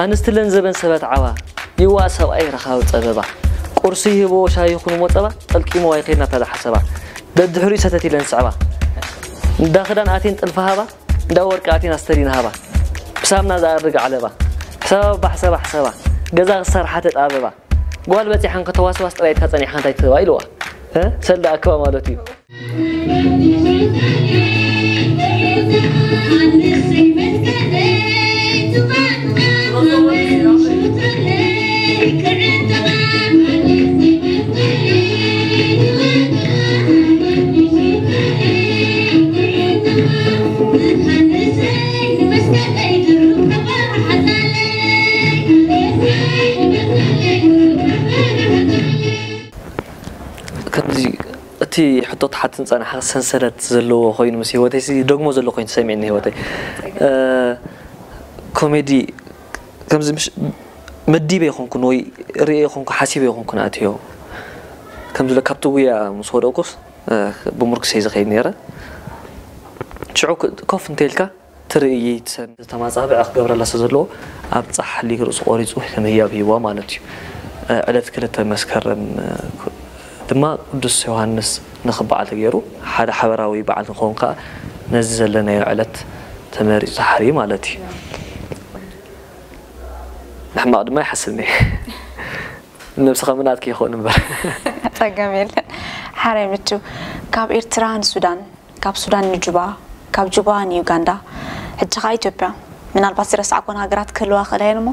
ኣንስቲ ለንዘበን ሰበት ዓባ ይዋእ ሰብኣይ ረኻቢ ጸበባ። ቁርሲ ይህብዎ ሻሂ ይኹን ሞጸባ ጠልቂሞ ኣይኸይድና ታዛ ሓሰባ። ደድሕሪኡ ሰተት ኢለን ዝስዕባ። እንዳ ክዳን ኣቴን ጥልፊ ሃባ እንዳ ወርቂ ኣቴን ኣስተሪን ሃባ። ብሳምና ዝኣርግ ዓለባ ሕሰባ ባሕሰባ ሕሰባ። ገዛ ክሰርሓ ተጣበባ። ጓል በጺሓን ከተዋስዋስ ጥራይ ኢልካ ጸኒሕካ እንታይ ትህባ ኢልዋ። ሰልዳ ኣክባ ማለት እዩ። ከምዚ እቲ ሕቶ ትሓትን ጸናሓ ሰንሰለት ዘለዎ ኮይኑ ምስ ህይወተይ ሲ ደግሞ ዘሎ ኮይኑ ተሰሚዕኒ ህይወተይ። ኮሜዲ ከምዚ ምሽ መዲበ ይኾንኩን ወይ ርእየ ይኾንኩ ሓሲበ ይኾንኩን ኣትዮ። ከምዚ ኢለ ካብቲ ጉያ ምስ ወደቅኩስ ብምርኩሰይ ዝኸይድ ነይረ። ሽዑ ኮፍ እንተልካ ትርእይ ትሰሚ ዝተማጻብዐ ክገብረላ ስለ ዘለዎ ኣብ ጻሕሊ ርእሱ ቆሪጹ ከም ህያብ ሂዋ ማለት እዩ። ዕለት ክልተ መስከረም ድማ ቅዱስ ዮሃንስ ንኽበዓል ተገይሩ ሓደ ሓበራዊ በዓል ንኸውን ከዓ ነዚ ዘለናዮ ዕለት ተመሪጹ ተሓርዩ ማለት እዩ። ንሕማቕ ድማ ይሓስብኒ። ነብስኻ ምናትኪ ይኸውን እምበር። ጸገም የለን። ሓራይ ምቹ ካብ ኤርትራ ንሱዳን ካብ ሱዳን ንጁባ ካብ ጁባ ንዩጋንዳ ሕጂ ኸዓ ኢትዮጵያ ምናልባት ዝረሳዕኮን ሃገራት ክህልዋ ክእላ እየን እሞ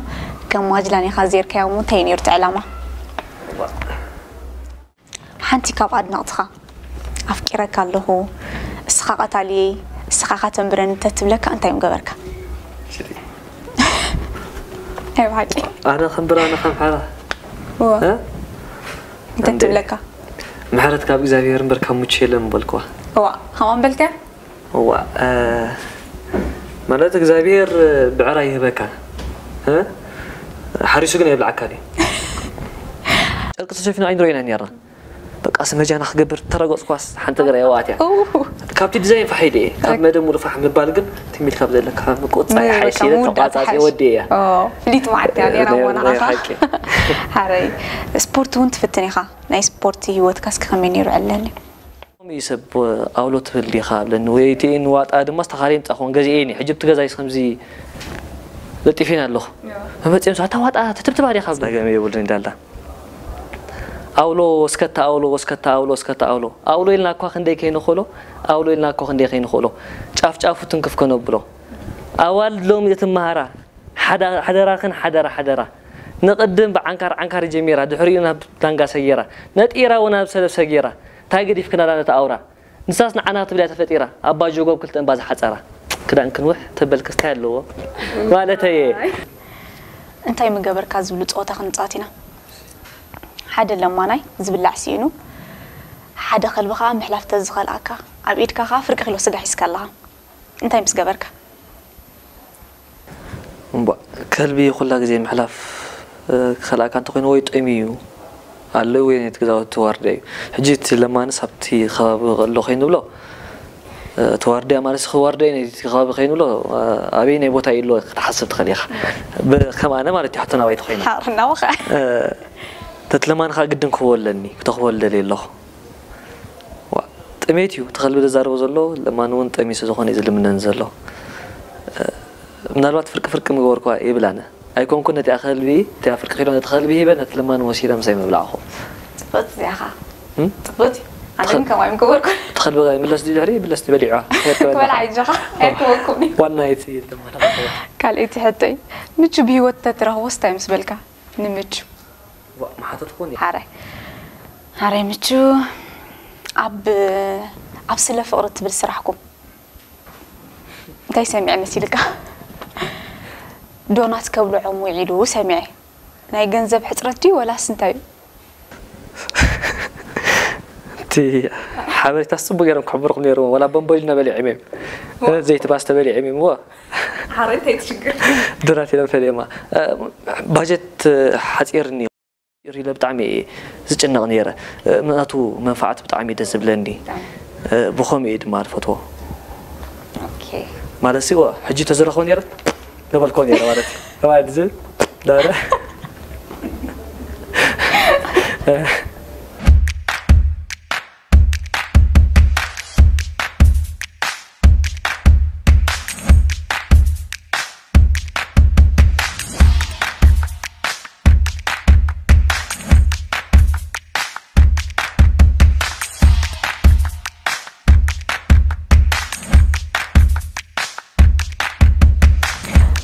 ከም ማጅላን ኢኻ ዜርካዮ እሞ እንታይ እዩ ነይሩ እቲ ዕላማ? ሓንቲ ካብ ኣድነቕትኻ ኣፍቂረካ ኣለኹ እስኻ ቀታልየይ እስኻ ኻተንብረኒ ተትብለካ እንታይ ምገበርካ? ናይ ብሓቂ ኣነ ከም ብራነ ከም ሓራ እዋ እ? እንታይ እንዴ? ትብለካ? ምሕረት ካብ እግዚኣብሔር እምበር ካብ ሙቼ የለን ምበልክዋ። እዋ ከምኣ ምበልካ? እዋ እ፣ ማለት እግዚኣብሔር ብዕራይ ይህበካ እ? ሓሪሱ ግን የብልዓካ ድዩ? ጨርቂ ተሸፊኑ ኣይንረኢናን ነርና። በቃ ስመጃና ክገብር ተረገጽኳስ ሓንቲ ገራ የዋት እያ። ኡ፣ ካብቲ ዲዛይን ፋሕ ኢለ እየ። ካብ መደብ ሙሉ ፋሕ ምባል ግን ትሚል ካብ ዘለካ ምቁጻ እየ። ሓይሲ ኢለ ተቋጻጺ ወዲ እያ። ኦ፣ ፍሊት መዓት እያ ነይራ ናይ- እሞ ናይ ንዓኻ። ሓቂ። ሓረይ፣ ስፖርት እውን ትፍትን ኢኻ። ናይ ስፖርት ህይወትካ እስኪ ከመይ ነይሩ ዕለኒ? ከምኡ እዩ ሰብ ኣውሎ ትብል ዲኻ ብለኒ። ወይ እቲ ንዋጣ ድማ ዝተኻረየ ምጻኹን ገዚኤ እየ። ሕጂ ብቲ ገዛይስ ከምዚ ለጢፌን ኣለኹ። መመጺኦም ሰባት ዋጣ ትትብትባ ዲኻ ብለኒ። ጸገም የብሉን ይዳላ። ኣውሎ ወስከታ ኣውሎ ወስከታ ኣውሎ ወስከታ ኣውሎ ኣውሎ ኢልና እኳ ክንደይ ከይንኽእሎ ኣውሎ ኢልና እኳ ክንደይ ከይንኽእሎ ጫፍ ጫፉ ትንክፍ ከነብሎ ኣዋልድ ሎሚ እትመሃራ ሓዳ- ሓደራኽን ሓደራ ሓደራ ንቕድም ብዓንካር ዓንካር ጀሚራ ድሕሪኡ ናብ ዳንጋ ሰጊራ ነጢራ እውን ናብ ሰለፍ ሰጊራ ታይ ገዲፍክናላ ነታ ኣውራ ንሳስ ንዓና ክትብል እያ ተፈጢራ ኣባ ጆጎብ ክልተ እምባ ዝሓጸራ ክዳን ክንውሕ ተበልክስ ታይ ኣለዎ ማለተየ እንታይ ምገበርካ ዝብሉ ጸወታ ክንጻወት ኢና ሓደ ለማናይ ዝብላዕ ስኢኑ ሓደ ከልቢ ከኣ ምሕላፍ ተዝኸልኣካ ኣብ ኢድካ ከኣ ፍርቂ ኪሎ ስጋ ሒዝካ ኣለኻ እንታይ ምስ ገበርካ? እምቧእ ከልቢ ኩላ ግዜ ምሕላፍ ክኸልኣካ እንተኾይኑ ወይ ጠምዩ ኣሎ ወይ ነቲ ገዛውቲ ዋርድያ እዩ። ሕጂ እቲ ለማንስ ኣብቲ ከባቢ ኣሎ ከይንብሎ እቲ ዋርድያ ማለት ሲ ዋርድያ እዩ ነቲ ከባቢ ከይንብሎ ኣበየናይ ቦታ እዩ ኣሎ ክትሓስብ ትኽእል ኢኻ። ከም ኣነ ማለት እዩ ሕቶ ናባይ ተኾይኑ። ሓርናውኻ ነቲ ለማኒ ከዓ ግድን ክህቦ ኣለኒ ክተኽቦ ልደልየ ኣለኹ። ጥሜት እዩ እቲ ከልቢ ዘዛርቦ ዘሎ ለማኒ እውን ጠሚዩ ስለዝኾነ እዩ ዝልምነኒ ዘሎ። ምናልባት ፍርቂ ፍርቂ ምገበርኳ ይብል ኣነ ኣይኮንኩን ነቲኣ ከልቢ እቲኣ ፍርቂ ኪሎ ነቲ ከልቢ ሂበ ነቲ ለማኒ ወሲደ ምሳይ ምብላዕኹ። ፅብቕቲ እዚኣ ኸዓ። ፅብቕቲ እዩ። ኣነ ግን ከምኣ ኣይምገበርኩን። እቲ ከልቢ ከ ይምለስ ድዩ ድሕሪ ይምለስ ድዩ በሊዑ ክበልዓ እዩ ጀኻ ኣይርከበኩም እዩ። ዋና እቲ ለማኒ ካልኣይቲ ሕቶይ ምቹ ብሂወት ተትረኽቦስ እንታይ ምስ በልካ? ንምቹ ምሓተትኩን ሓራይ ሓራይ ምቹ ኣብ ኣብ ስለ ፍቕሪ እትብል ስራሕኩም እንታይ ሰሚዐ መሲልካ ዶናት ከብልዖም ውዒሉ ሰሚዐ ናይ ገንዘብ ሕፅረት ድዩ ወላስ እንታይ እዩ እቲ ሓበሬታስ ፅቡቅ ገይሮም ክሕብሩኩም ነይርዎም ዋላ ቦምቦሊኖ በሊዖም እዮም ዘይቲ ባስ ተበሊዖም እዮም እዎ ሓራይ እንታይ ትሽግር ዶናት ኢሎም ፈሊዮማ ባጀት ሓፂርኒ ኢለ ብጣዕሚ እየ ዝጭነቕ ነይረ። ናቱ መንፍዓት ብጣዕሚ እዩ ደስ ዝብለኒ። ብኸምኡ እየ ድማ ዝፈትዎ። ማለት ሲ ሕጂ ተዝረኽቦ ነይረ ገበልኮ ነይረ ማለት እዩ። ተባሂሉ ዝብል ነበረ።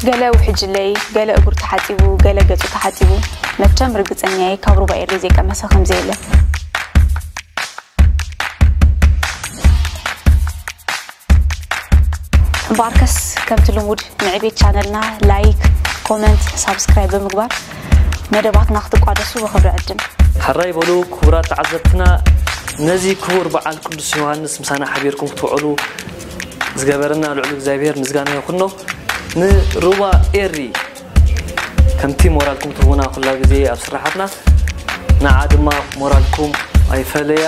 ገለ ውሕጅለይ፣ ገለ እግሩ ተሓጺቡ፣ ገለ ገጹ ተሓጺቡ፣ መቸም ርግጸኛየ ካብ ሩባ ኤሪ ዘይቀመሰ ከምዘየለ። እምበኣርከስ ከምቲ ልሙድ ንዕቤት ቻነልና ላይክ፣ ኮመንት፣ ሳብስክራይብ ብምግባር መደባትና ክትቋደሱ ብኽብሪ ዕድም። ሕራይ በሉ ክቡራት ተዓዘብትና፣ ነዚ ክቡር በዓል ቅዱስ ዮሃንስ ምሳና ሓቢርኩም ክትውዕሉ ዝገበረና ልዑል እግዚኣብሔር ምስጋና ይኹኖ። ንሩባ ኤሪ ከምቲ ሞራልኩም ትህቡና ኩላ ግዜ ኣብ ስራሓትና፣ ንዓ ድማ ሞራልኩም ኣይፈለያ።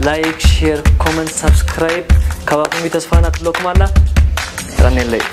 ላይክ፣ ሼር፣ ኮመንት፣ ሳብስክራይብ ካባኹም እዩ ተስፋና ትብለኩም ኣላ። ጥራኔለይ።